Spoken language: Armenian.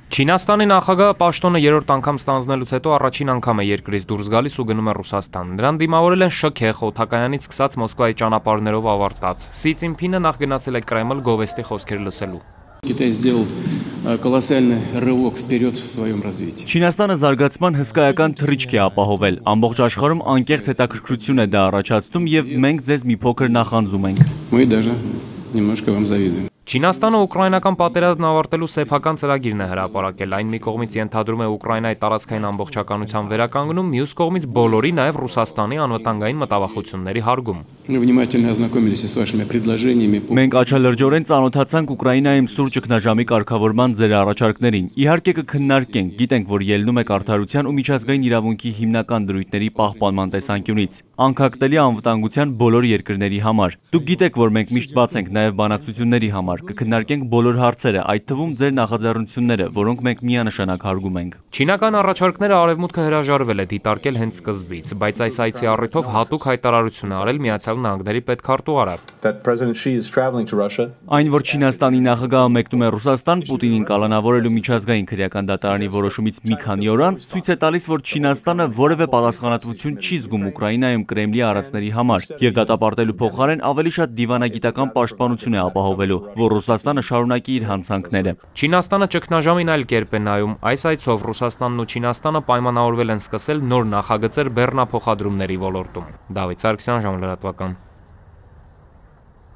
Չինաստանի նախագահը պաշտոնը երրորդ անգամ ստանձնելուց հետո առաջին անգամ է երկրից դուրս գալիս ու գնում է Ռուսաստան։ Նրան դիմավորել են շքեղ, օդակայանից սկսած Մոսկվայի ճանապարհներով ավարտած։ Սի Ցինփինը նախ գնացել է Կրեմլ գովեստի խոսքեր լսելու։ Կիтай сделал колоссальный рывок вперед в своем развитии. Չինաստանը զարգացման հսկայական թռիչք է ապահովել։ Ամբողջ աշխարհում անկեղծ հետաքրքրություն է դա առաջացնում եւ մենք ձեզ մի փոքր նախանձում ենք։ Мы даже немножко вам завидуем. Չինաստանը ուկրաինական պատերազմն ավարտելու սեփական ծրագիրն է հրապարակել։ Այն մի կողմից ենթադրում է Ուկրաինայի տարածքային ամբողջականության վերականգնում, մյուս կողմից բոլորի, նաև Ռուսաստանի անվտանգային մտավախությունների հարգում։ Мы внимательно ознакомились с вашими предложениями. Մենք աչալրջորեն ծանոթացանք Ուկրաինայում սուր ճգնաժամի կարգավորման ձեր առաջարկներին։ Իհարկե կքննարկենք, գիտենք, որ ելնում եք արդարության ու միջազգային իրավունքի հիմնական դրույթների պահպանման տեսանկյունից, անկախտելի անվտանգության բոլոր երկրների համար։ Դուք գիտեք, որ մենք միշտ բաց ենք նաև բանակցությունների համար։ Կքննարկենք բոլոր հարցերը, այդ թվում ձեր նախաձեռնությունները, որոնք մենք միանշանակ հարգում ենք։ Չինական առաջարկները Արևմուտքը հրաժարվել է դիտարկել հենց սկզբից, բայց այս այցի առիթով հատուկ հայտարարություն է արել Միացյալ Նահանգների պետքարտուղարը։ Այն, որ Չինաստանի նախագահը մեկնում է Ռուսաստան, Պուտինին կալանավորելու միջազգային քրեական դատարանի որոշումից մի քանի օր անց ցույց է տալիս, որ Չինաստանը որևէ պատասխանատվություն չի զգում Ուկրաինայում Կրեմլի արածների համար, եւ դատապարտելու փոխարեն ավելի շատ դիվանագիտական պաշտպանություն է ապահովելու, որ Ռուսաստանը շարունակի իր հանցանքները։ Չինաստանը ճգնաժամին այլ կերպ է նայում։ Այս այցով Ռուսաստանն ու Չինաստանը պայմանավորվել են սկսել նոր նախագծեր բեռնափոխադրումների ոլորտում։ Դավիթ Սարգսյան, ժամլրատվական։